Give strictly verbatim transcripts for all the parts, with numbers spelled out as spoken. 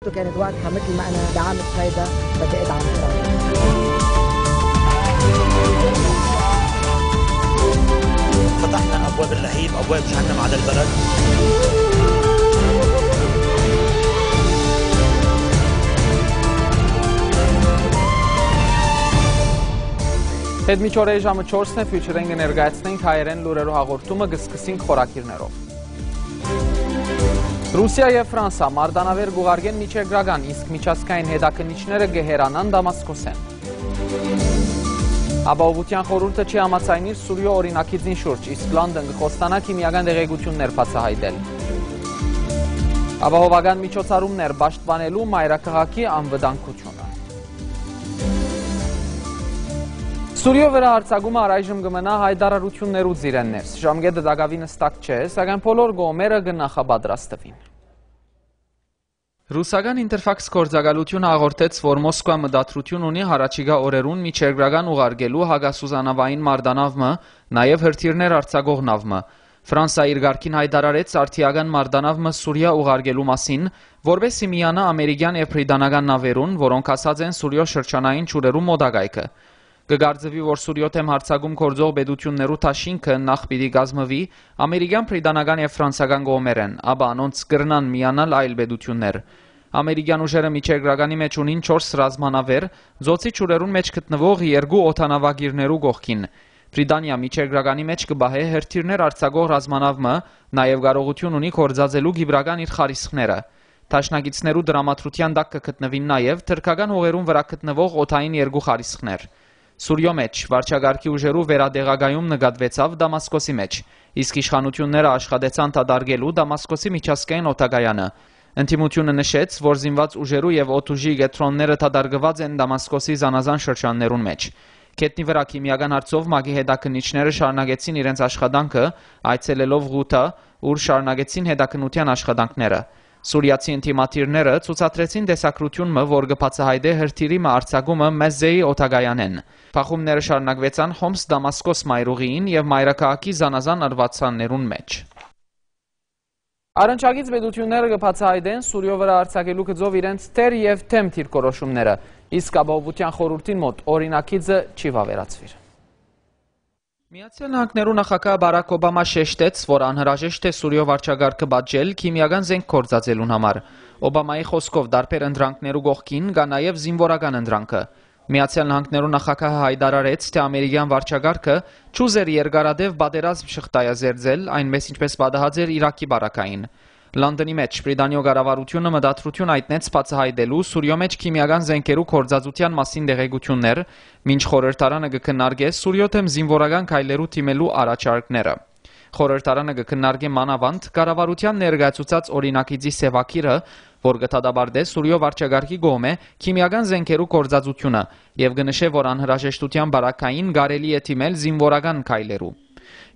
كانت وقتها مثل ما أنا دعمت هيدا، بدي أدعم إسرائيل. فتحنا أبواب اللهيب، أبواب جهنم على البلد. Հետ մինչ օրը ժամը չորսն է, Future-ին կը ներկայացնենք հայերէն լուրերու հաղորդումը, կը սկսենք խորագիրներով։ Ռուսիա եւ Ֆրանսա մարտանաւեր կ'ուղարկեն միջերկրական, իսկ միջազգային հետաքննիչները կը հեռանան Դամասկոսէն։ Ապահովութեան խորհուրդը չի համաձայնիր Սուրիոյ օրինակիցին շուրջ, իսկ Լոնդոն կը խոստանայ քիմիական տեղեկութիւններ բացայայտել։ Ապահովական միջոցառումներ պաշտպանելու մայրաքաղաքի անվտանգությունը։ Սուրիոյ վրայ յարձակումը առայժմ կը մնայ յայտարարութիւններու ծիրէն ներս։ Ժամկէտը տակաւին հստակ չէ, սակայն բոլոր կողմերը կը նախապատրաստուին։ Ռուսական Ինտերֆաքս գործակալութիւնը հաղորդեց, որ Մոսկվա մտադրութիւն ունի յառաջիկայ օրերուն միջերկրական ուղարկելու հակասուզանավային մարտանաւ մը, նաեւ հրթիռներ արձակող նաւ մը։ Ֆրանսա իր կարգին յայտարարեց արդիական մարտանաւ մը Սուրիա ուղարկելու մասին, որպէս զի միանայ ամերիկեան եւ բրիտանական նաւերուն, որոնք հասած են Սուրիոյ շրջանային ջուրերու մօտակայքը։ Կը կարծուի, որ Սուրիոյ դէմ յարձակում գործող պետութիւններու դաշինքը նախ պիտի կազմուի ամերիկեան, բրիտանական եւ ֆրանսական կողմերէն, ապա անոնց կրնան միանալ այլ պետութիւններ։ Ամերիկեան ուժերը միջերկրականի մէջ ունին չորս ռազմանաւեր, ծոցի ջուրերուն մէջ գտնուող երկու օդանաւակիրներու կողքին։ Բրիտանիա միջերկրականի մէջ կը պահէ հրթիռներ արձակող ռազմանաւ մը, նաեւ կարողութիւն ունի գործածելու կիպրական իր խարիսխները։ Դաշնակիցներու տրամադրութեան տակ կը գտնուին նաեւ թրքական հողերուն վրայ գտնուող օդային երկու խարիսխներ։ Սուրիոյ մէջ վարչակարգի ուժերու վերատեղակայում նկատուեցաւ Դամասկոսի մէջ, իսկ իշխանութիւնները աշխատեցան դատարկելու Դամասկոսի միջազգային օդակայանը։ Ընդդիմութիւնը նշեց, որ զինուած ուժերու եւ օդուժի կեդրոնները դատարկուած են Դամասկոսի զանազան շրջաններուն մէջ։ Գետնի վրայ քիմիական հարցով ՄԱԿ-ի հետաքննիչները շարունակեցին իրենց աշխատանքը, այցելելով Ղութա, ուր շարունակեցին հետաքննութեան աշխատանքները։ Սուրիացի ընդդիմադիրները ցուցադրեցին տեսագրութիւն մը, որ կը բացայայտէ հրթիռի մը արձակումը Մեզզեի օդակայանէն։ Բախումները շարունակուեցան Հոմս Դամասկոս մայրուղիին եւ մայրաքաղաքի զանազան արուածաններուն մէջ։ Առնչակից պետութիւնները կը բացայայտեն Սուրիոյ վրայ արձակելու գծով իրենց թեր եւ թեմ դիրքորոշումները, իսկ Ապահովութեան խորհուրդին մօտ օրինակիցը չի վաւերացուիր։ Միացեալ Նահանգներու նախագահ Բարաք Օբամա շեշտեց, որ անհրաժեշտ է Սուրիոյ վարչակարգը պատժել քիմիական զենք գործածելուն համար։ Օբամայի խօսքով, տարբեր ընտրանքներու կողքին կայ նաեւ զինուորական ընտրանքը։ Միացեալ Նահանգներու նախագահը յայտարարեց, թէ ամերիկեան վարչակարգը չուզեր երկարատեւ պատերազմ շղթայազերծել, այնպես ինչպես պատահած էր Իրաքի պարագային։ Լոնդոնի մէջ Բրիտանիոյ կառավարութիւնը մտադրութիւն յայտնեց բացայայտելու Սուրիոյ մէջ քիմիական զենքերու գործածութեան մասին տեղեկութիւններ, մինչ խորհրդարանը կը քննարկէ Սուրիոյ դէմ զինուորական քայլերու դիմելու առաջարկները։ Խորհրդարանը կը քննարկէ մանաւանդ կառավարութեան ներկայացուցած օրինակիցի սեւագիրը, որ կը դատապարտէ Սուրիոյ վարչակարգի կողմէ քիմիական զենքերու գործածութիւնը եւ կը նշէ, որ անհրաժեշտութեան պարագային կարելի է դիմել զինուորական քայլերու։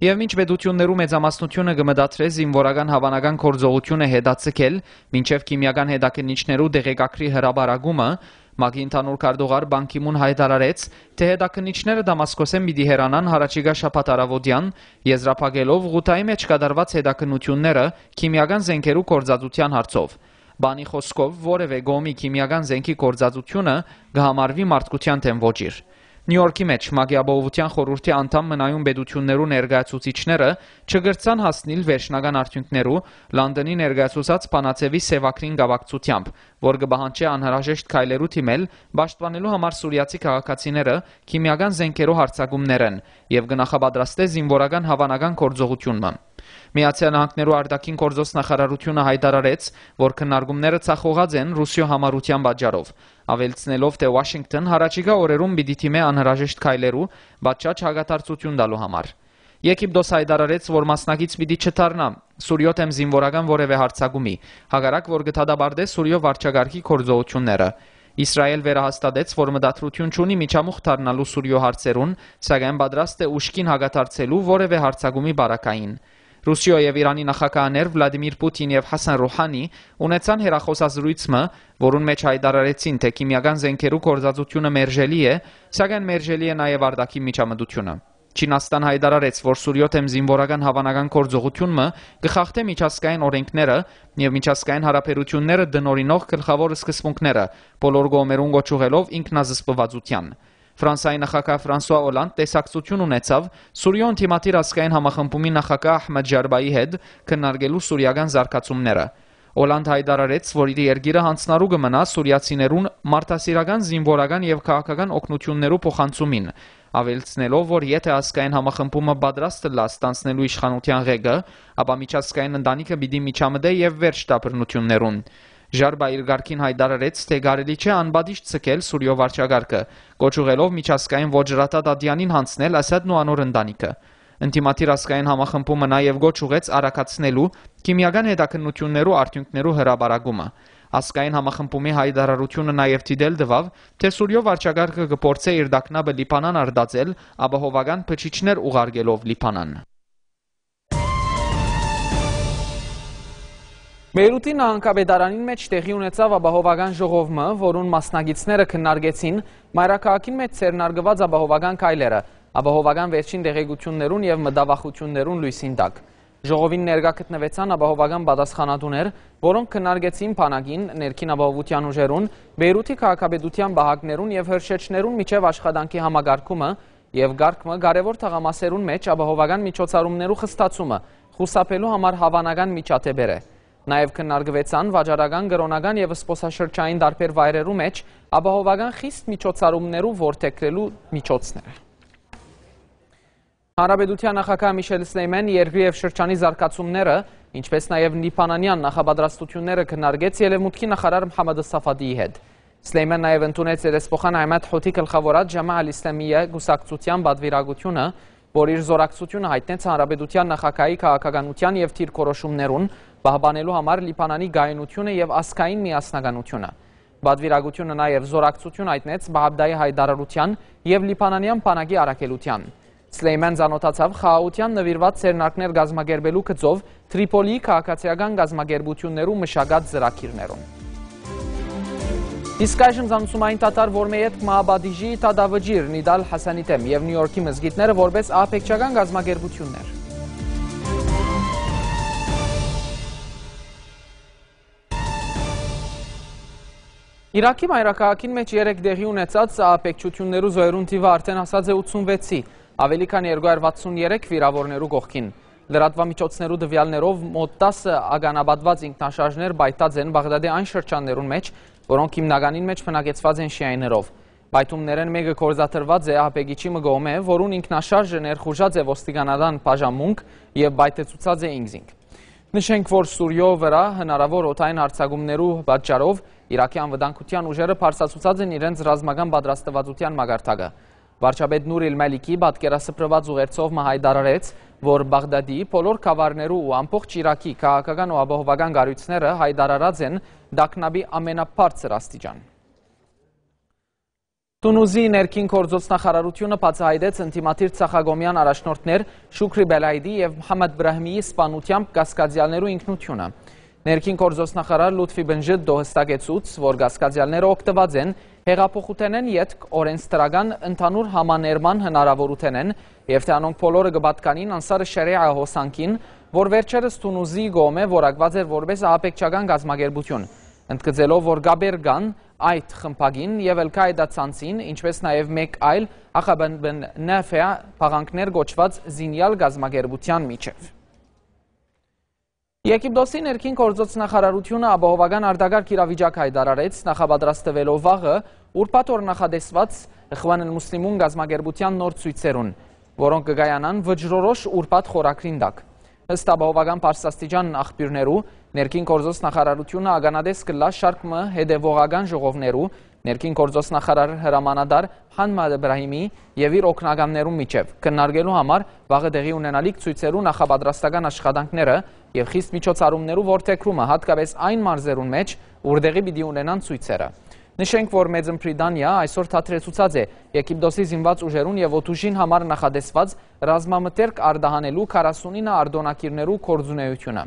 Եւ մինչ պետութիւններու մեծամասնութիւնը կը մտադրէ զինուորական հաւանական գործողութիւնը հետաձգել, մինչեւ քիմիական հետաքննիչներու տեղեկագրի հրապարակումը, ՄԱԿ-ի ընդհանուր քարտուղար Պան Գի Մուն յայտարարեց, թէ հետաքննիչները Դամասկոսէն պիտի հեռանան յառաջիկայ շաբաթ առաւօտեան, եզրափակելով Ղութայի մէջ կատարուած հետաքննութիւնները քիմիական զենքերու գործածութեան հարցով։ Պանի խօսքով, որեւէ կողմի քիմիական զենքի գործածութիւնը կը համարուի մարդկութեան դէմ ոճիր։ Նիու Յորքի մէջ ՄԱԿ-ի Ապահովութեան խորհուրդի անդամ մնայուն պետութիւններու ներկայացուցիչները չկրցան հասնիլ վերջնական արդիւնքներու Լոնդոնի ներկայացուցած բանաձեւի սեւագրին կապակցութեամբ, որ կը պահանջէ անհրաժեշտ քայլերու դիմել պաշտպանելու համար սուրիացի քաղաքացիները քիմիական զենքերու յարձակումներէն եւ կը նախապատրաստէ զինուորական հաւանական գործողութիւն մը։ Միացեալ Նահանգներու արտաքին գործոց նախարարութիւնը յայտարարեց, որ քննարկումները ձախողած են Ռուսիոյ համառութեան պատճառով, աւելցնելով, թէ Ուաշինկթոն յառաջիկայ օրերուն պիտի դիմէ անհրաժեշտ քայլերու պատշաճ հակադարձութիւն տալու համար։ Եգիպտոս յայտարարեց, որ մասնակից պիտի չդառնայ Սուրիոյ դէմ զինուորական որեւէ յարձակումի, հակառակ որ կը դատապարտէ Սուրիոյ վարչակարգի գործողութիւնները։ Իսրայէլ վերահաստատեց, որ մտադրութիւն չունի միջամուխ դառնալու Սուրիոյ հարցերուն, սակայն պատրաստ է ուժգին հակադարձելու որեւէ յարձակումի պարագային։ Ռուսիոյ եւ Իրանի նախագահներ Վլադիմիր Պուտին եւ Հասան Ռուհանի ունեցան հեռախօսազրոյց մը, որուն մէջ յայտարարեցին, թէ քիմիական զենքերու գործածութիւնը մերժելի է, սակայն մերժելի է նաեւ արտաքին միջամտութիւնը։ Չինաստան յայտարարեց, որ Սուրիոյ դէմ զինուորական հաւանական գործողութիւն մը կը խախտէ միջազգային օրէնքները եւ միջազգային յարաբերութիւնները տնօրինող գլխաւոր սկզբունքները, բոլոր կողմերուն կոչ ուղղելով ինքնազսպվածութեան։ Ֆրանսայի նախագահ Ֆրանսուա Օլանդ տեսակցութիւն ունեցաւ Սուրիոյ ընդդիմադիր ազգային համախմբումի նախագահ Ահմեդ Ժարբայի հետ քննարկելու սուրիական զարգացումները։ Օլանդ յայտարարեց, որ իր երկիրը յանձնառու կը մնայ սուրիացիներուն մարդասիրական, զինուորական եւ քաղաքական օգնութիւններու փոխանցումին, աւելցնելով, որ եթէ ազգային համախմբումը պատրաստ ըլլայ ստանձնելու իշխանութեան ղեկը, ապա միջազգային ընտանիքը պիտի միջամտէ եւ վերջ տայ բռնութիւններուն։ Ժարբա իր կարգին յայտարարեց, թէ կարելի չէ անպատիժ ձգել Սուրիոյ վարչակարգը, կոչ ուղղելով միջազգային ոճրատա Տատյանին յանձնել Ասադն ու անոր ընտանիքը։ Ընդդիմադիր ազգային համախմբումը նաեւ կոչ ուղղեց արագացնելու քիմիական հետաքննութիւններու արդիւնքներու հրապարակումը։ Ազգային համախմբումի յայտարարութիւնը նաեւ դիտել տուաւ, թէ Սուրիոյ վարչակարգը կը փորձէ իր տագնապը Լիբանան արտածել ապահովական բջիջներ ուղարկելով Լիբանան։ Բեյրութի նահանգապետարանին մէջ տեղի ունեցաւ ապահովական ժողով մը, որուն մասնակիցները քննարկեցին մայրաքաղաքին մէջ ձեռնարկուած ապահովական քայլերը, ապահովական վերջին տեղեկութիւններուն եւ մտավախութիւններուն լոյսին տակ։ Ժողովին ներկայ գտնուեցան ապահովական պատասխանատուներ, որոնք քննարկեցին բանակին, ներքին ապահովութեան ուժերուն, Բեյրութի քաղաքապետութեան պահակներուն եւ հրշեջներուն միջեւ աշխատանքի համակարգումը եւ կարգ մը կարեւոր թաղամասերուն մէջ ապահովական միջոցառումներու խստացումը խուսափելու համար հաւանական միջադէպերը։ Նաեւ քննարկուեցան վաճառական, կրօնական եւ զբօսաշրջային տարբեր վայրերու մէջ ապահովական խիստ միջոցառումներու որդեգրելու միջոցները։ Հանրապետութեան նախագահ Միշել Սլեյմեն երկրի եւ շրջանի զարգացումները, ինչպէս նաեւ լիբանանեան նախապատրաստութիւնները քննարկեց Ելեւմուտքի նախարար Մհամմեդ Սաֆադիի հետ։ Սլեյմեն նաեւ ընդունեց երեսփոխան Ահմեդ Հոթի գլխաւորած Ջամա Ալ Իսլամիյա կուսակցութեան պատվիրակութիւնը, որ իր զորակցութիւնը յայտնեց հանրապետութեան նախագահի քաղաքականութեան եւ դիրքորոշումներուն պահպանելու համար Լիբանանի կայունութիւնը եւ ազգային միասնականութիւնը։ Պատվիրակութիւնը նաեւ զորակցութիւն յայտնեց Բաղդայի յայտարարութեան եւ լիբանանեան բանակի առաքելութեան։ Սլեյմեն ծանօթացաւ խաղաղութեան նուիրուած ձեռնարկներ կազմակերպելու գծով Տրիպոլիի քաղաքացիական կազմակերպութիւններու մշակած ծրագիրներուն։ Իսկ այժմ զանցումային դադար, որ մը ետք մը պատիժի դատավճիռ Նիդալ Հասանի դէմ եւ Նիու Յորքի մզկիթները որպես ահաբեկչական կազմակերպութիւններ։ Իրաքի մայրաքաղաքին մէջ երեկ տեղի ունեցած ահաբեկչութիւններու զոյերուն թիւը արդէն հասած է ութսունվեցի, աւելի քան երկու հարյուր վաթսուն երեք վիրաւորներու կողքին։ Լրատուամիջոցներու տուեալներով մօտ տասը ականապատուած ինքնաշարժներ պայթած են Բաղդադի այն շրջաններուն մէջ, որոնք հիմնականին մէջ բնակեցուած են շիայիներով։ Պայթումներէն մէկը գործադրուած է ահաբեկիչի մը կողմէ, որուն ինքնաշարժը ներխուժած է ոստիկանական բաժանմունք եւ պայթեցուցած է ինքզինք։ Նշենք, որ Սուրիոյ վրայ հնարաւոր օդային յարձակումներու պատճառով Իրաքի անվտանգութեան ուժերը բարձրացուցած են իրենց ռազմական պատրաստվածութեան մակարդակը։ Վարչապետ Նուրիլ Մալիքի պատկերասփռուած ուղերձով մը յայտարարեց, որ Բաղդադի, բոլոր գաւառներու ու ամբողջ Իրաքի քաղաքական ու ապահովական կառույցները յայտարարած են տագնապի ամենաբարձր աստիճան։ Թունուզի ներքին գործոց նախարարութիւնը բացայայտեց ընդդիմադիր ցախակոմեան առաջնորդներ Շուքրի Բելայդի եւ Մհամմեդ Բրահիմիի սպաննութեամբ կասկածեալներու ինքնութիւնը։ Ներքին գործոց նախարար Լութֆի Բնժդդո հստակեցուց, որ կասկածեալները օգտուած են հեղափոխութենէն ետք օրենսդրական ընդհանուր համաներման հնարաւորութենէն եւ թէ անոնք բոլորը կը պատկանին Անսարը Շարիա հոսանքին, որ վերջերս Թունուզի կողմէ որակուած էր որպէս ահաբեկչական կազմակերպութիւն, ընդգծելով, որ կապեր կան այդ խմբակին եւ Ալ-Կաիդա ցանցին, ինչպէս նաեւ մէկ այլ Ախաբ Բն Նաֆեա փաղանգներ կոչուած զինեալ կազմակերպութեան միջեւ։ Եգիպտոսի ներքին գործոց նախարարութիւնը ապահովական արտակարգ իրավիճակ յայտարարեց, նախապատրաստուելով վաղը ուրբաթ օր նախատեսուած Իխուան Ալ Մուսլիմուն կազմակերպութեան նոր ցոյցերուն, որոնք կը կայանան վճռորոշ ուրբաթ խորագրին տակ։ Ըստ ապահովական բարձրաստիճան աղբիւրներու, ներքին գործոց նախարարութիւնը ականատես կ'ըլլայ շարք մը հետեւողական ժողովներու, ներքին գործոց նախարար հրամանատար Հանմադ Իբրահիմի եւ իր օգնականներուն միջեւ, քննարկելու համար վաղը տեղի ունենալիք ցոյցերու նախապատրաստական աշխատանքները եւ խիստ միջոցառումներու որդեգրումը, յատկապէս այն մարզերուն մէջ, ուր տեղի պիտի ունենան ցոյցերը։ Նշենք, որ Մեծն Բրիտանիա այսօր դադրեցուցած է Եգիպտոսի զինուած ուժերուն եւ օդուժին համար նախատեսուած ռազմամթերք արտահանելու քառասունինը արտօնագիրներու գործունեութիւնը։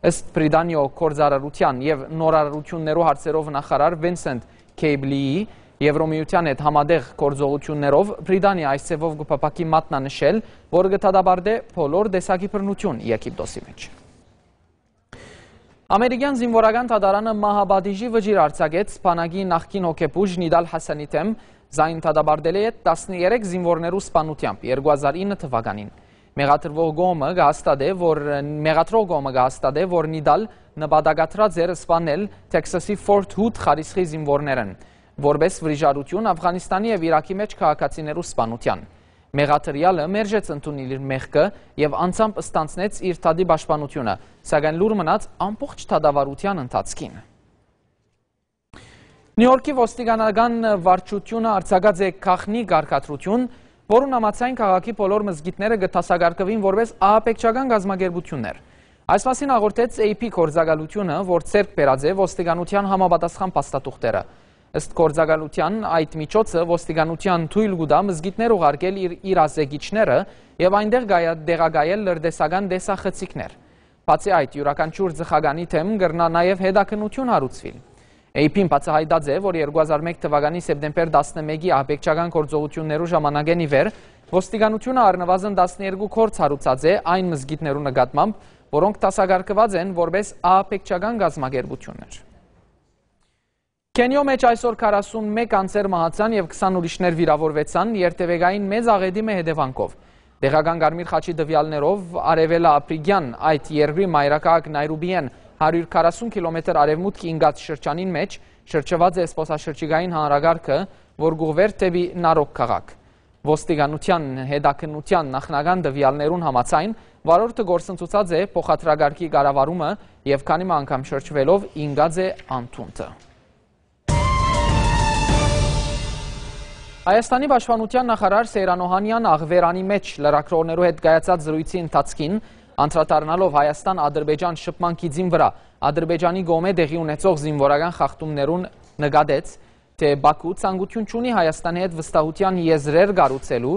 Ըստ Բրիտանիոյ գործարարութեան եւ նորարարութիւններու հարցերով նախարար Վինսենտ Քեյբլիի, Եվրոմիութեան հետ համատեղ գործողութիւններով Բրիտանիա այս ձեւով կը փափաքի մատնանշել, որ կը դատապարտէ բոլոր տեսակի բռնութիւն Եգիպտոսի մէջ։ Ամերիկեան զինուորական դատարանը մահապատիժի վճիռ արձակեց բանակի նախկին հոգեբուժ Նիդալ Հասանի դէմ, զայն դատապարտելէ յետ տասներեք զինուորներու սպանութեամբ երկու հազար ինը թվականին։ Մեղադրվող կողմը կը հաստատէ, որ, մեղադրող կողմը կը հաստատէ, որ Նիդալ նպատակադրած էր սպանել Թեքսասի Ֆորթ Հուդ խարիսխի զինուորներէն, որպէս վրիժառութիւն Աֆղանիստանի եւ Իրաքի մէջ քաղաքացիներու սպանութեան։ Մեղադրեալը մերժեց ընդունել իր մեղքը եւ անձամբ ստանձնեց իր դատի պաշտպանութիւնը, սակայն լուռ մնաց ամբողջ դատավարութեան ընթացքին։ Նիու Յորքի ոստիկանական վարչութիւնը արձակած է գաղտնի կարգադրութիւն, որուն համաձայն քաղաքի բոլոր մզկիթները կը դասակարգուին որպէս ահաբեկչական կազմակերպութիւններ։ Այս մասին հաղորդեց A P գործակալութիւնը, որ ձեռք բերած է ոստիկանութեան համապատասխան փաստաթուղթերը։ Ըստ գործակալութեան, այդ միջոցը ոստիկանութեան թոյլ կու տայ մզկիթներ ուղարկել իր իրազեկիչները եւ այնտեղ կայա-, տեղակայել լրտեսական տեսախցիկներ։ Բացի այդ, իւրաքանչիւր ծխականի դէմ կրնայ նաեւ հետաքննութիւն հարուցուիլ։ A P-ն բացայայտած է, որ երկու հազար մէկ թվականի սեպտեմբեր տասնմէկի ահաբեկչական գործողութիւններու ժամանակէն ի վեր ոստիկանութիւնը առնուազն տասներկու գործ հարուցած է այն մզկիթներու նկատմամբ, որոնք դասակարգուած են որպէս ահաբեկչական կազմակերպութիւններ։ Քենիոյ մէջ այսօր քառասունմէկ անձեր մահացան եւ քսան ուրիշներ վիրաւորուեցան երթեւեկային մեծ աղէտի մը հետեւանքով։ Տեղական Կարմիր խաչի տուեալներով, արեւելաაფրիկեան այդ երկրի մայրաքաղաք Նայրուբիէն հարիւր քառասուն քիլոմետր արեւմուտք ինկած շրջանին մէջ շրջուած է զբօսաշրջիկային հանրակարգը, որ կ'ուղղուէր դէպի Նարոկ քաղաք։ Ոստիկանութեան հետաքննութեան նախնական տուեալներուն համաձայն, վարորդը կորսնցուցած է փոխադրակարգի կառավարումը եւ քանի մը անգամ շրջուելով ինկած է անդունդը։ Հայաստանի պաշտպանութեան նախարար Սեյրան Օհանեան Աղվերանի մէջ լրագրողներու հետ կայացած զրոյցի ընթացքին, անդրադառնալով Հայաստան-Ադրբեջան շփման գիծին վրայ Ադրբեջանի կողմէ տեղի ունեցող զինուորական խախտումներուն, նկատեց, թէ Բաքու ցանկութիւն չունի Հայաստանի հետ վստահութեան եզրեր կառուցելու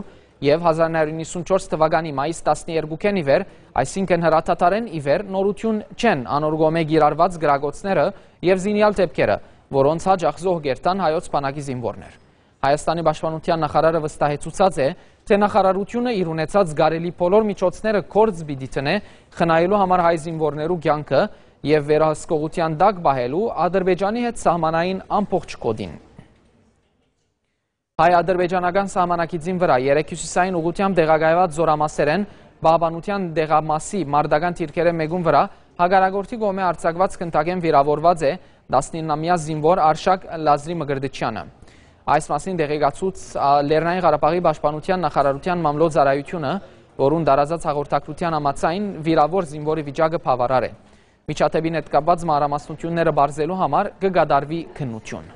եւ հազար նոյ հարիւր նոյսունչորս թվականի մայիս տասներկուքէն ի վեր, այսինքն՝ հրադադարէն ի վեր, նորութիւն չեն անոր կողմէ կիրառուած կրակոցները եւ զինեալ դէպքերը, որոնց յաճախ զոհ կ'երթան հայոց բանակի զինուորներ։ Հայաստանի պաշտպանութեան նախարարը վստահեցուցած է, թէ նախարարութիւնը իր ունեցած կարելի բոլոր միջոցները գործ պիտի դնէ՝ խնայելու համար հայ զինուորներու կեանքը եւ վերահսկողութեան տակ պահելու Ադրբեջանի հետ սահմանային ամբողջ գօտին։ Հայ-ադրբեջանական սահմանակիցին վրայ երեկ հիւսիսային ուղղութեամբ տեղակայուած զօրամասերէն պահպանութեան տեղամասի մարտական դիրքերէն մէկուն վրայ հակառակորդի կողմէ արձակուած գնդակէն վիրաւորուած է տասնիննամեայ զինուոր Արշակ Լազրի Մկրտչեանը։ Այս մասին տեղեկացուց, ա, Լեռնային Ղարաբաղի պաշտպանութեան նախարարութեան մամլոյ ծառայութիւնը, որուն տարածած հաղորդագրութեան համաձայն, վիրաւոր զինուորի վիճակը բաւարար է։ Միջադէպին հետ կապուած մանրամասնութիւնները պարզելու համար կը կատարուի քննութիւն։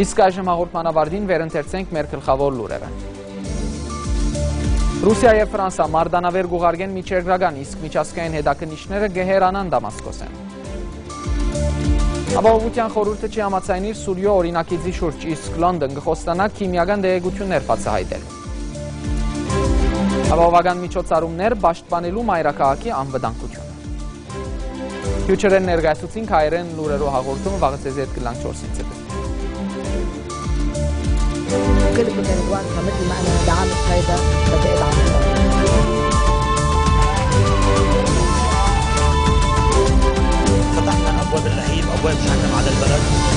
Իսկ այժմ հաղորդման ավարտին վերընթերցենք մեր գլխաւոր լուրերը։ Ռուսիա եւ Ֆրանսա մարտանաւեր կ'ուղարկեն միջերկրական, իսկ միջազգային հետաքննիչները կը հեռանան Դամասկոսէն։ Ապահովութեան խորհուրդը չի համաձայնիր Սուրիոյ օրինագիծի շուրջ, իսկ Լոնդոն կը խոստանայ քիմիական տեղեկութիւններ բացայայտել։ Ապահովական միջոցառումներ պաշտպանելու մայրաքաղաքի անվտանգությունը։ Future-ն ներկայացուցին հայերեն լուրերու հաղորդումը, վաղը ձեզ հետ կլանք չորսին ցեդը։ كل بدن وان حمد ما أنا دعم الفايدة بدي أدعم الفايدة. فتحنا أبواب الرحيل وأبواب جهنم على البلد.